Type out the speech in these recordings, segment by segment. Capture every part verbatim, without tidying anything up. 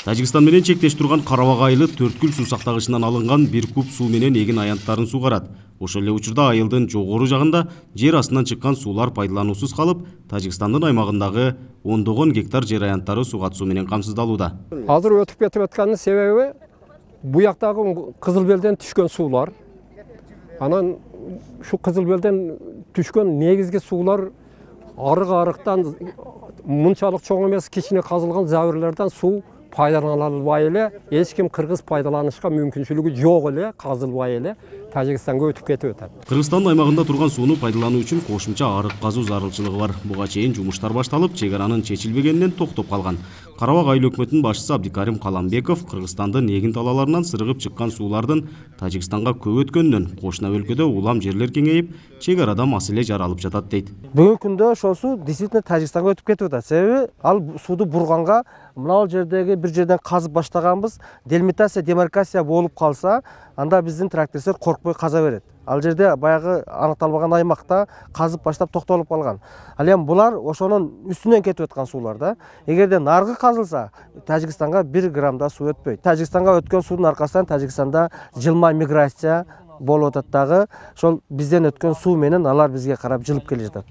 Тажикстан менен чектеш турган Карабак айылы Төрткүл суу сактагычынан алынган бир куб суу менен эгин аянттарын сугарат. Ошол эле учурда айылдын жогору жагында жер астынан чыккан суулар пайдалануусуз калып, Тажикстандын аймагындагы ондогон гектар жер аянттары сугат суу менен камсыздалууда. Азыр өтүп кетип атканын себеби бу жактагы Кызыл Белден түшкөн суулар. Анан шу Кызыл Белден түшкөн негизги суулар арык-арыктан мынчалык чоң эмес кичине казылган забырлардан суу пайдаланылбай эле, эч ким кыргыз пайдаланышка мүмкүнчүлүгү жок эле, казылбай эле Тажикстанга өтүп кетип атат. Кыргызстандын аймагында турган сууну пайдалануу үчүн кошумча арык казуу зарылчылыгы бар. Буга чейин жумуштар башталып, чек аранын чечилбегенинен токтоп калган. Карабак айыл өкмөтүнүн башчысы Абдикарим Каламбеков Кыргызстандын эгин талааларынан сырыгып чыккан суулардын Тажикстанга көп өткөнүнөн, кошуна өлкөдө улам жерлер кеңейип, чек арада маселе жаралып жатат дейт. Бүгүнкү күндө ошол суу действительно Тажикстанга өтүп кетип атат. Себеби ал сууду бурганга мына жердеги бир жерден казып баштаганбыз, делимитация, демаркация болуп калса, анда биздин трактористтер коркпой каза берет. Ал жерде баягы аныкталбаган аймакта казып баштап токтолуп калган. Ал эми булар ошонун үстүнөн кетип аткан суулар да. Эгерде наргы казылса, Тажикстанга бир грамм да суу өтпөйт. Тажикстанга өткөн суунун аркасынан Тажикстанда жылма миграция болуп атат дагы. Ошол бизден өткөн суу менен алар бизге карап жылып келе жатат.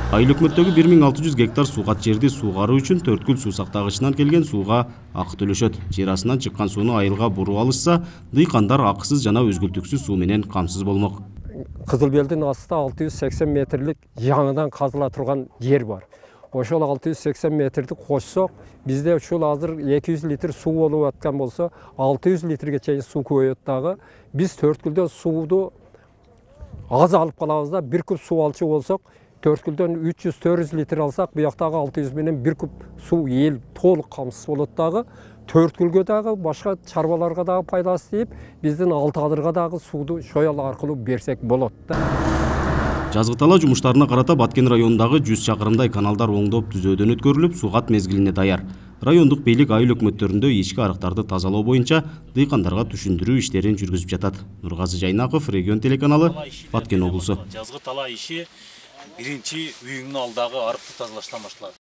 Айыл өкмөттөгү бир миң алты жүз гектар сугат жерди суугаруу үчүн Төрткүл суу сактагычынан келген сууга акы төлөшөт. Жер астынан чыккан сууну айылга буруп алышса, дыйкандар акысыз жана үзгүлтүксүз суу менен камсыз болмок. Кызыл Белдин астында алты жүз сексен метрлик жаңыдан казыла турган жер бар. Ошол алты жүз сексен метрди кошсок, бизде ушул азыр эки жүз литр суу болуп аткан болсо, алты жүз литрге чейин суу көбөйөт дагы. Биз Төрткүлдө сууду аз алып калабыз да, бир куб суу алчу болсок, Төрткүлдөн үч жүз төрт жүз литр алсак, буяктагы алты жүз менен бир куб суу эл толук камсыз болот дагы. Төрткүлгө дагы башка чарбаларга дагы пайдасы тийип, биздин Алты Адырга дагы сууду шоял аркылуу берсек болот да. Жазгы талаа жумуштарына карата Баткен районундагы жүз чакырымдай каналдар оңдоп түзөөдөн өткөрүлүп, сугат мезгилине даяр. Райондук бийлик айыл өкмөттөрүндө ички арыктарды тазалоо боюнча дыйкандарга түшүндүрүү иштерин жүргүзүп жатат. Нургазы Жайнаков, Регион телеканалы, Баткен облусу. Жазгы талаа иши биринчи үйүңдүн алдагы арыкты тазалаштан башталат.